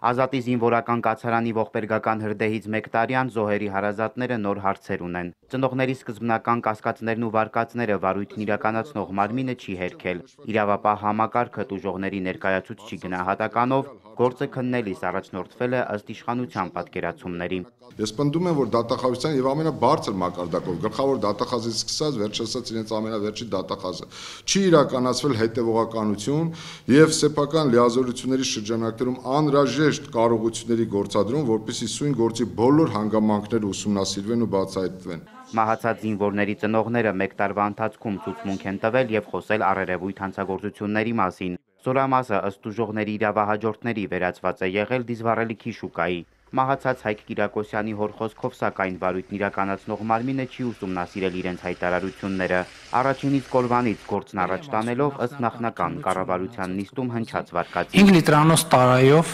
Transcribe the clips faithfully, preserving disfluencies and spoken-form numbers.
Ազատի զինվորական կացարանի ողբերգական հրդեհից մեկ տարյան զոհերի հարազատները նոր հարցեր ունեն։ Ծնողների սկզբնական կասկածներն ու վարկածները վարույթն իրականացնող մարմինը չի հերքել։ Իրավապահ համակարգը տուժողների ներկայացուցչի գնահատականով գործը քննելիս առաջնորդվել է ըստ իշխանության պատկերացումների։ Ես պնդում եմ, որ դատախազության եւ ամենաբարձր մակարդակով գլխավոր դատախազից սկսած վերջացած իրենց ամենավերջի դատախազը չի իրականացվել հետևողականություն եւ սեփական լիազորությունների շրջանակներում անհրաժեշտ կարողությունների գործադրում, որպեսզի սույն գործի բոլոր հանգամանքները ուսումնասիրվեն ու բացահայտվեն։ Մահացած զինվորների ծնողները մեկ տարվա ընթացքում ցուցմունք են տվել եւ խոսել առերևույթ հանցագործությունների մասին։ Զորամասը ըստ տուժողների իրավահաջորդների վերածված է եղել դիզվառելիքի շուկայի։ Մահացած Հայկ Կիրակոսյանի հոր խոսքով սակայն վարույթն իրականացնող մարմինը չի ուսումնասիրել իրենց հայտարարությունները։ Առաջինից կորվանից գործն առաջ տանելով ըստ նախնական կառավարության նիստում հնչած վարկածի։ հինգ լիտրանոց տարայով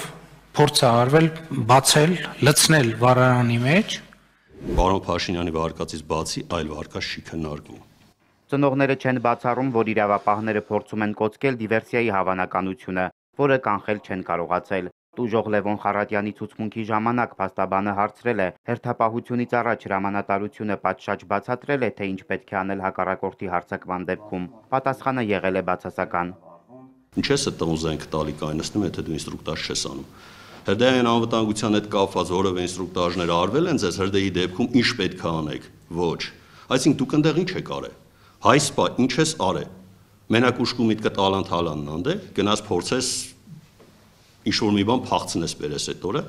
փորձ է արվել բացել, լցնել վառարանի մեջ։ Պարոն Փաշինյանի վարկածից բացի այլ վարկած չի քննարկվում։ Ծնողները չեն բացառում, որ իրավապահները փորձում են կոծկել դիվերսիայի հավանականությունը, որը կանխել չեն կարողացել։ Տուժող Լևոն Խարատյանի ցուցմունքի ժամանակ փաստաբանը հարցրել է, հերթապահությունից առաջ հրամանատարությունը պատշաճ բացատրել է, թե ինչ պետք է անել հակառակորդի հարձակման դեպքում։ Պատասխանը եղել է բացասական։ Ինչ ես այդ տղուն զենք տալի կայնացնում, եթե դու ինստրուկտաժ չես անում։ Հրդեհային անվտանգության հետ կապված որևէ ինստրուկտաժներ արվել են ձեզ հրդեհի դեպքում ինչ պետք է անեք։ Ոչ։ Այսինքն դուք այնտեղ ինչ եք արել։ Հայ սպա ինչ ես արել։ Մենակ ուշքու միտքը տալանթալանն անդե, գնաց փորձես ինչ-որ մի բան փախցնես բերես այդ օրը։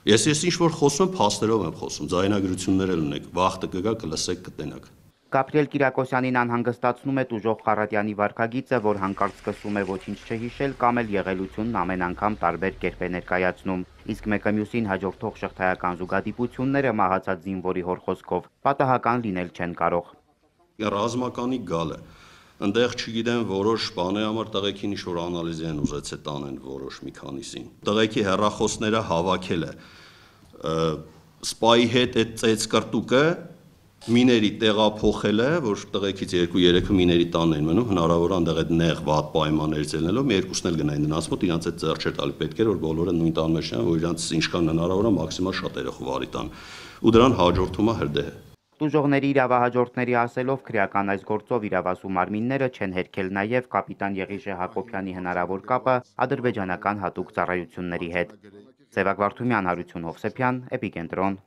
Ես ես ինչ-որ խոսում եմ, փաստերով եմ խոսում, ձայնագրություններ էլ ունեք, վաղը կգա կլսեք կտենաք։ Գաբրիել Կիրակոսյանին անհանգստացնում է տուժող Խարատյանի վարքագիծը, որ հանկարծ սկսում է ոչինչ չհիշել կամ էլ եղելությունն ամեն անգամ տարբեր կերպ է ներկայացնում։ Իսկ մեկը մյուսին հաջորդող շղթայական զուգադիպությունները մահացած զինվորի հոր խոսքով պատահական լինել չեն կարող։ Ռազմականի գալը Ընդեղ չգիտեմ որոշ բաների համար տղեկին ինչ-որ անալիզի են ուզեցել տանեն որոշ մի քանիսին։ Տղեկի հեռախոսները հավաքել է սպայի հետ այդ ծեծ կրտուկը միների տեղափոխել է, որ տղեկից երկու երեքը միների տանն են մնում, հնարավոր է այնտեղ այդ նեղ վատ պայմաններից ելնելով մի երկուսն էլ գնային նրանց մոտ, իրանց այդ ձեռ չէր տալի, պետք էր որ բոլորը նույն տան մեջ են, որ իրանց ինչքան հնարավոր է մաքսիմալ շատ երախով վարի տան։ Ու դրան հաջորդում է հրդեհը։ Տուժողների իրավահաջորդների ասելով քրեական այս գործով իրավասու մարմինները չեն հերքել նաև կապիտան Եղիշե Հակոբյանի հնարավոր կապը ադրբեջանական հատուկ ծառայությունների հետ։ Սևակ Վարդումյան, Հարություն Հովսեփյան, Էպիկենտրոն։